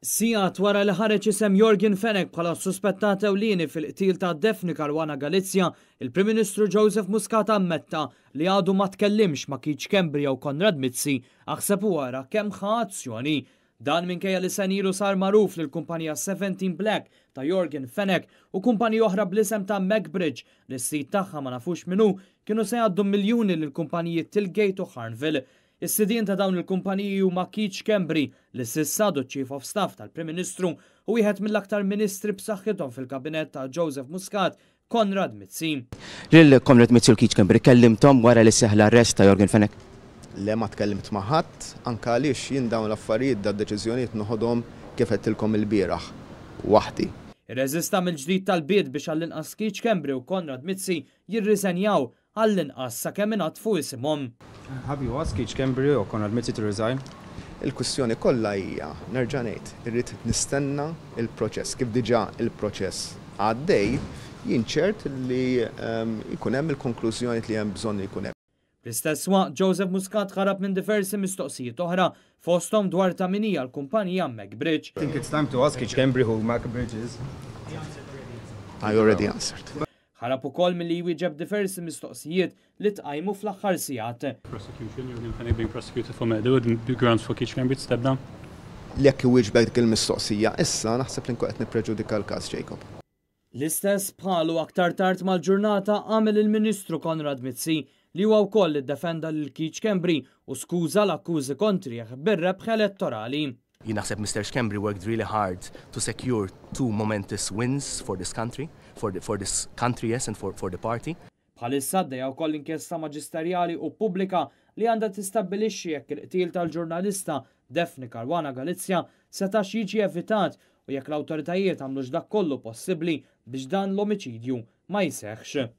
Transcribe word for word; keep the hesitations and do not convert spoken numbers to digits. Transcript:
Sigħat wara li ħareġ isem Yorgen Fenech bħala suspettat ewlieni fil-qtil ta' Daphne Caruana Galizia, il-Prim Ministru Joseph Muscat ammetta li għadu ma tkellimx ma' Keith Schembri jew Konrad Mizzi, aħseb u ara kemm ħa azzjoni. Dan minkejja li sena ilu sar magħruf li l-kumpanija seventeen Black ta' Yorgen Fenech u kumpanija oħra bl-isem ta' MacBridge li s-sid tagħha ma nafux minnu kienu se jgħaddu miljuni lil kumpaniji Tillgate u Harnville. Is-sidien ta' dawn il-kumpaniji huma Keith Schembri, li s'issa għadu Chief of Staff tal-Prim Ministru, u wieħed mill-aktar ministri b'saħħithom fil-kabinet ta' Joseph Muscat, Konrad Mizzi. Lil Konrad Mizzi u Keith Schembri kellimtom wara li seħħ l-arrest ta' Yorgen Fenech? Le, ma tkellimt ma' ħadd, anke għaliex jien dawn l-affarijiet, da deċiżjonijiet noħodhom, kif għedtilkom il-bieraħ, waħdi. Irreżista mill-ġdid talbiet biex għall-inqas Keith Schembri u Konrad Mizzi jirriżenjaw, għall-inqas sakemm inaddfu isimhom. Have you asked Keith Schembri or Konrad Mizzi to resign? Il-kwistjoni kollha hija, nerġa' ngħid, irrid nistenna il-proċess. Kif diġà il-proċess għaddej, jien ċert li ehm, jkun hemm il-konklużjoni li hemm bżonn jkun hemm. Fl-istess waqt, Joseph Muscat ħarab minn diversi mistoqsijiet oħra, fosthom dwar ta' min hija l-kumpanija MacBridge. I think it's time to ask Keith Schembri who MacBridge is. I already answered. Ħarab ukoll milli jwieġeb diversi mistoqsijiet li tqajmu fl-aħħar sigħat. Prosecution, Yorgen Fenech being prosecuted for murder would be grounds for Keith Schembri to step down? Jekk iwieġbek dik il-mistoqsija issa, naħseb li nkun qed nippreġudika l-każ, Jacob. L-istess bħalu aktar tard mal-ġurnata għamel il-Ministru Konrad Mizzi, li huwa wkoll iddefenda lil Keith Schembri u skuża l-akkużi kontrih bir-rebħ elettorali. Jien naħseb Mister Schembri worked really hard to secure two momentous wins for this country, for, the, for this country, yes, and for, for the party. Bħalissa għaddejja wkoll inkjesta maġisterjali u pubblika li għandha tistabbilixxi jekk il-qtil tal-ġurnalista Daphne Caruana Galizia setax jiġi evitat u jekk l-awtoritajiet għamlux dak kollu possibbli biex dan l-omiċidju ma jseħħx.